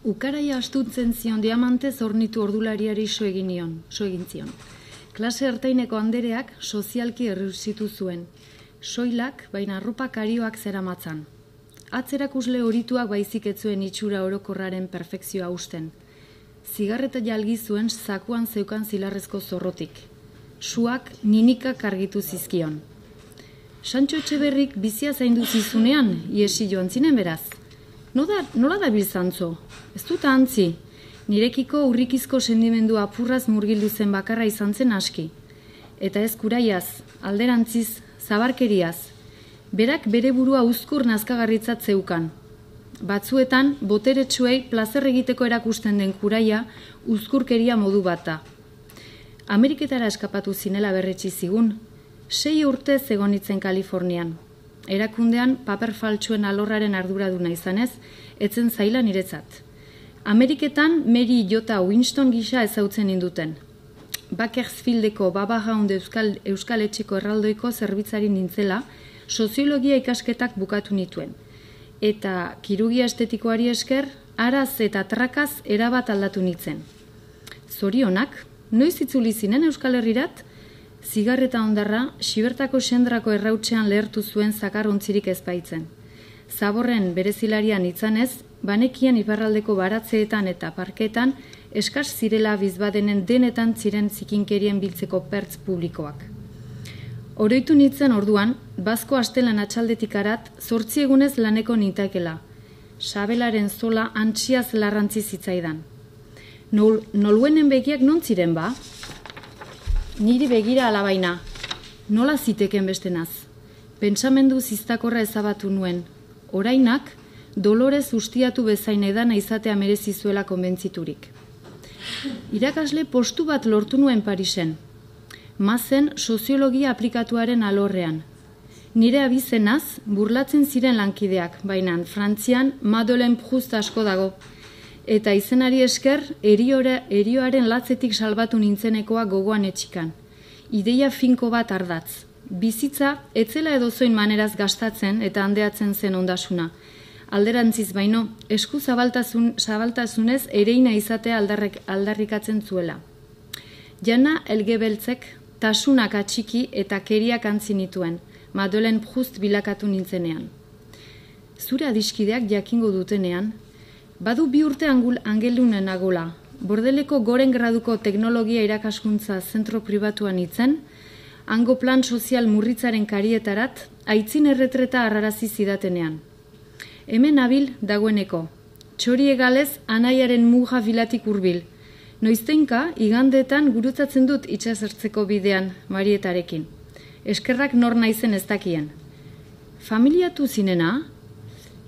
Ukaraia astuntzen zion diamantez ornitu ordulariari so egin zion. Klase ertaineko andereak sozialki errusitu zuen. Soilak, baina arropa karioak zeramatzan. Atzerakusle horituak baizik ez zuen itxura orokorraren perfekzioa usten. Zigarreta jalgi zuen zakuan zeukan zilarrezko zorrotik. Suak ninikak argitu zizkion. Santxo Etxeberrik bizia zaindu zizunean, iesi joan zinen beraz. Nola da biltzantzo? Ez dut antzi. Nirekiko urrikizko sendimendu apurraz murgildu zen bakarra izan zen aski. Eta ez kuraiaz, alderantziz, zabarkeriaz. Berak bere burua uzkur nazkagarritzat zeukan. Batzuetan, boteretsuei plazer egiteko erakusten den kuraia uzkurkeria modu bat da. Ameriketara eskapatu zinela berretsi zigun. 6 urtez egon nitzen Kalifornian. Erakundean paper faltsuen alorraren arduraduna izanez, etzen zaila niretzat. Ameriketan Mary J. Winston gisa ezautzen induten. Bakersfieldeko Baba Hound Euskal Etxeko erraldoiko zerbitzari nintzela, soziologia ikasketak bukatu nituen. Eta kirurgia estetikoari esker, araz eta trakaz erabat aldatu nitzen. Zorionak, noiz itzuli zinen Euskal Herrirat? Zigarreta ondarra, Xibertako sendrako errautsean lehertu zuen zakarrontzirik ezbaitzen. Zaborren berezilarian itzanez, banekian iparraldeko baratzeetan eta parketan eskas zirela bizbadenen denetan ziren zikinkerien biltzeko pertz publikoak. Oroitu nintzen orduan, Bazko astelan atxaldetik arat, 8 egunez laneko nintakela. Sabelaren zola antxiaz larrantzi zitzaidan. Noluenen begiak non ziren ba? Niri begira alabaina. Nola ziteken bestenaz? Pentsamendu ziztakorra ezabatu nuen. Orainak, Dolorez ustiatu bezain edana izatea merezi zuela konbentziturik. Irakasle postu bat lortu nuen Parisen. Mazen soziologia aplikatuaren alorrean. Nire abizenaz, burlatzen ziren lankideak, baina Frantzian Madeleine Proust asko dago. Eta izenari esker, erioaren latzetik salbatu nintzenekoa gogoan etxikan. Ideia finko bat ardatz. Bizitza, etzela edozoin maneraz gastatzen eta handeatzen zen ondasuna. Alderantziz baino, esku zabaltasunez ereina izatea aldarrikatzen zuela. Jana Elgebeltzek tasunak atxiki eta keriak antzi nituen, Madeleine Proust bilakatu nintzenean. Zure adiskideak jakingo dutenean, badu 2 urte angelunen agola, Bordeleko goren graduko teknologia irakaskuntza zentro pribatuan itzen, hango plan sozial murritzaren karietarat, aitzin erretreta arrarazi zidatenean. Hemen nabil dagoeneko, txori egalez anaiaren muga bilatik hurbil. Noizteinka, igandetan gurutzatzen dut itxasertzeko bidean Marietarekin. Eskerrak nor naizen ez dakien. Familiatu zinena?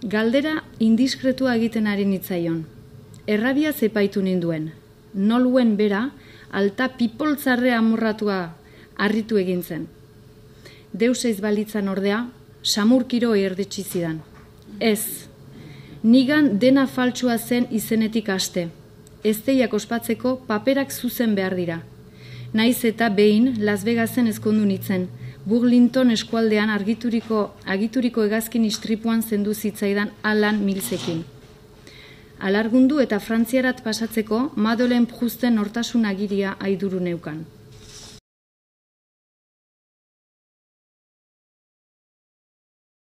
Galdera indiskretua egiten ari nitzaion. Errabia zepaitu ninduen. Noluen bera, alta pipoltzarre amorratua harritu egin zen. Deus eiz balitzan ordea, samurkiro erditsi zidan. Ez, nigan dena faltsua zen izenetik haste. Ezteiak ospatzeko paperak zuzen behar dira. Naiz eta behin Las Vegasen ezkondu nitzen, Burlington eskualdean agituriko hegazkin istripuan zendu zitzaidan Alan Millsekin. Alargundu eta Frantziarat pasatzeko Madeleine Prousten nortasun agiria aiduru neukan.